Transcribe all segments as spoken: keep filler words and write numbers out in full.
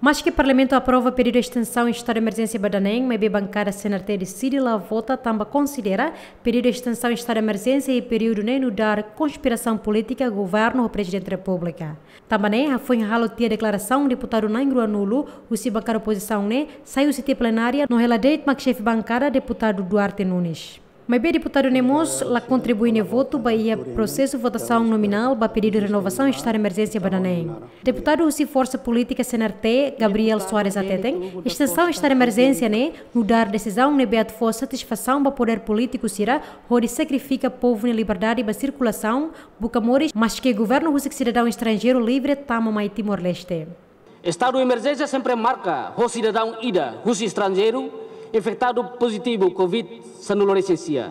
Maske Parlamentu aprova pedidu estensaun estadu de emerjénsia ba daneen, maibé bankada C N R T deside la vota tanba konsidera pedidu estensaun estadu de emerjénsia iha períodu ne'e nu'udar konspirasaun polítika governu ho Prezidente Repúblika. Tanba ne'e, hafoin halo tiha deklarasaun, deputadu na'in ruanulu husi bankada opozisaun ne'e sai husi tiha plenária no hela de'it mak xefe bankada, deputadu Duarte Nunes. Maibé deputadu ne'e mós la kontribui nia votu ba iha prosesu votasaun nominál ba pedidu renovasaun estadu de emerjénsia ba daneen. Deputadu husi forsa polítika C N R T, Gabriel Soares hateten, estensaun estadu de emerjénsia ne'e nu'udar desizaun ne'ebé atu fó satisfasaun ba podér polítiku sira hodi sakrifika povu nia liberdade ba sirkulasaun, buka moris, maske governu husik sidadaun estranjeiru livre tama mai Timor-Leste. Estadu emerjénsia sempre marka ho sidadaun ida husi estranjeiru infektadu pozitivu Covid sanulu resin sia.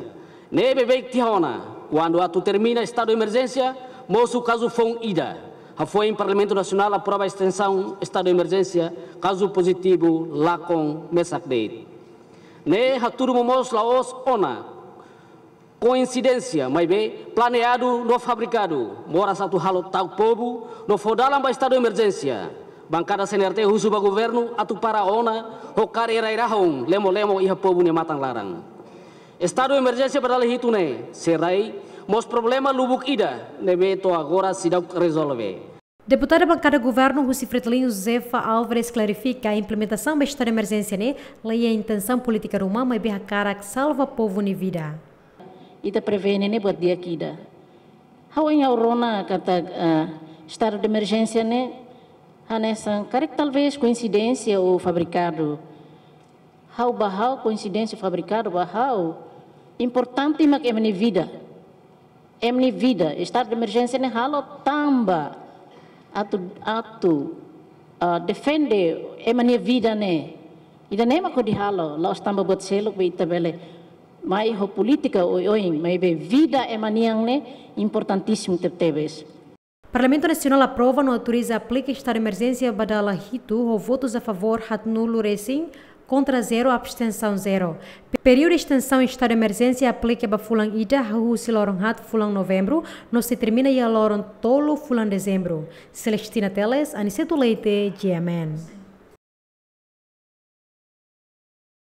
Ne'e beibeik tiha ona, kuandu atu termina estadu emerjénsia, mosu kazu foun ida. Hafoin Parlamentu Nasionál aprova estensaun estadu emerjénsia, kazu pozitivu lakon mesak de'it. Ne'e hatudu momoos la'ós ona koinsidénsia, maibé planeadu no fabrikadu, moras atu halo ta'uk povu no fó dalan ba estadu emerjénsia. Bankada C N R T husu ba governu atu para ona ho kaer rai-rahun lemo-lemo iha povu nia matan laran. Estadu emerjénsia ba dala hitu ne'e sei rai mós problema lubuk ida ne'ebé to'o agora seidauk rezolve. Deputada bankada governu husi Fretilin, Josefa Alvarez, klarifika implementasaun ba estadu de emerjénsia ne'e la iha intensaun polítika ruma, maibé hakarak salva povu nia vida. Ita prevene ne'e buat di'ak ida. Ha'u hanoin, ha'u rona katak, ah, estadu de emerjénsia ne'e hanesan karik talvés koinsidénsia ou fabrikadu. Ha'u, ba ha'u, koinsidénsia fabrikadu, ba ha'u, importante mak ema nia vida. Ema nia vida, estadu de emerjénsia ne'e halo tanba atu, atu, ah, defende ema nia vida ne'e. Ida-ne'e mak hodi halo, la'ós tanba buat seluk be ita bele mai ho polítika oioin, maibé vida ema nian ne'e importantísimu tebetebes. Parlamentu Nasionál aprova no autoriza aplika estadu de emerjénsia ba dala hitu ho votus a favór haatnulu resin, kontra zero, abstensaun zero. Períodu estensaun estadu de emerjénsia aplika ba fulan ida, hahú husi loron haat fulan Novembru, no sei termina iha loron tolu fulan Dezembru. Celestina Teles, Aniceto Leite, G M N.